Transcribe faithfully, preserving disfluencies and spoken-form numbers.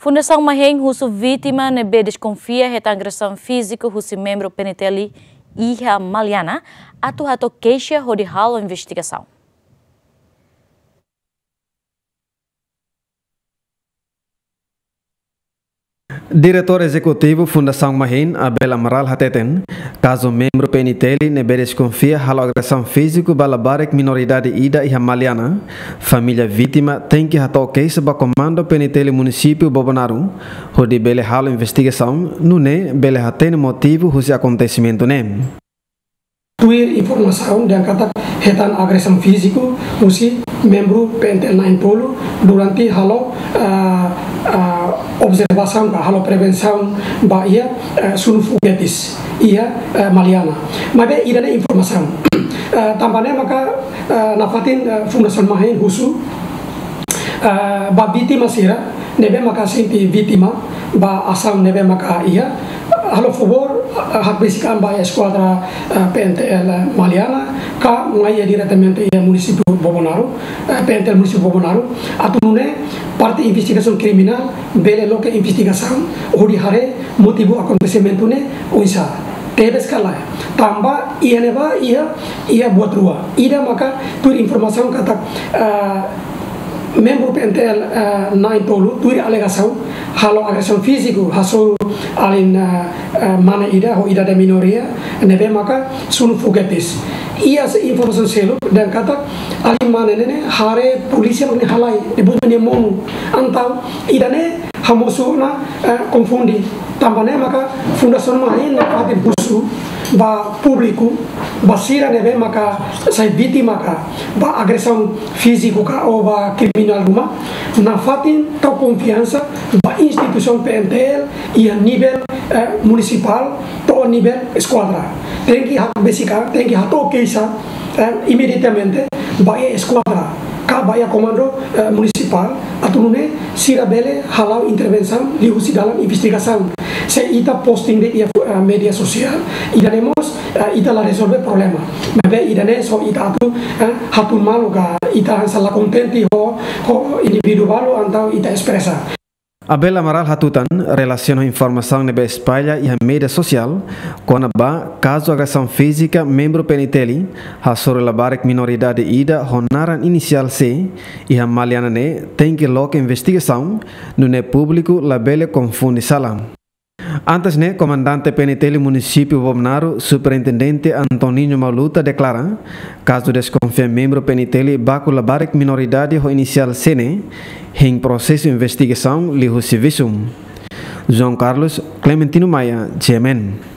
Fundasaun Mahein husu vítima ne'ebé deskonfia hetan agresaun fíziku husi membru P N T L iha Maliana atu hato'o keixa hodi halo investigasaun. Diretór Ezekutivu Fundasaun Mahein, Abel Amaral hateten, kazu membru P N T L ne'ebé deskonfia halo agresaun fíziku ba labarik minoridade ida iha Maliana, família vítima tenke hato'o keixa ba Komandu P N T L Munisípiu Bobonaro, hodi bele halo investigasaun, nune'e bele hatene motivu husi akontesimentu ne'e. Tuir informasaun dehan katak hetan agresaun fíziku husi membru P N T L na'in-tolu durante halo, ah, ah, observasaun ka halo prevensaun ba iha, eh, sunu foguetes iha, eh, Maliana. Maibé ida-ne'e informasaun. Eh, tanba ne'e maka, eh, nafatin, eh, Fundasaun Mahein husu, eh, ba vítima sira ne'ebé maka sente vítima ba asaun ne'ebé maka iha, halo favór, eh, hakbesik an ba iha eskuadra, eh, P N T L Maliana, ka mai iha diretamente iha Munisípiu Bobonaro, eh, P N T L Munisípiu Bobonaro, atu nune'e parte investigasaun kriminál bele loke investigasaun hodi haree motivu akontesimentu ne'e oinsá. Tebes ka lae. Tanba iha ne'ebá iha, iha buat rua. Ida maka tuir informasaun katak, eh, membru P N T L, eh, na'in-tolu, tuir alegasaun, halo agresaun fíziku hasoru alin, eh, eh, mane ida ho idade minoria, ne'ebé maka sunu foguetes. Iha se informasaun seluk dehan katak alin mane ne'e haree polísia mak nia halai, ne'e buat mak nia monu. Entaun ida-ne'e hamosu ona, eh, konfunde. Tanba ne'e maka Fundasaun Mahein nafatin husu ba públiku, ba sira ne'ebé maka sai vítima ka ba agresaun fíziku ka ou ba kriminál ruma, nafatin tau konfiansa ba instituisaun P N T L iha nivel, eh, munisipál to'o nivel eskuadra. Tenke hakbesik an, tenke hato'o keixa, eh, imediatamente ba iha eskuadra ka ba iha komandu, eh, munisipál, atu nune'e sira bele hala'o intervensaun liuhusi dalan investigasaun. Se ita posting de'it iha, eh, média sosiál, ida-ne'e mós, eh, ita la rezolve problema. Maibé ida-ne'e só ita atu, eh, hatun malu ka ita hanesan la kontente ho, ho indivíduu balu entaun ita espresa. Abel Amaral hatutan, relasiona ho informasaun ne'ebé espalla iha média sosiál, kona-ba kazu agresaun fízika membru P N T L hasoru labarik minoridade ida ho naran inisiál C iha Maliana ne'e, tenke loke investigasaun, nune'e públiku labele konfunde sala. Antes ne'e, Komandante P N T L Munisípiu Bobonaro, Superintendente Antoninho Maluta deklara, kazu deskonfia membru P N T L baku labarik minoridade ho inisiál C ne'e, hein prosesu investigasaun liuhusi visum. João Carlos, Clementino Maia, G M N.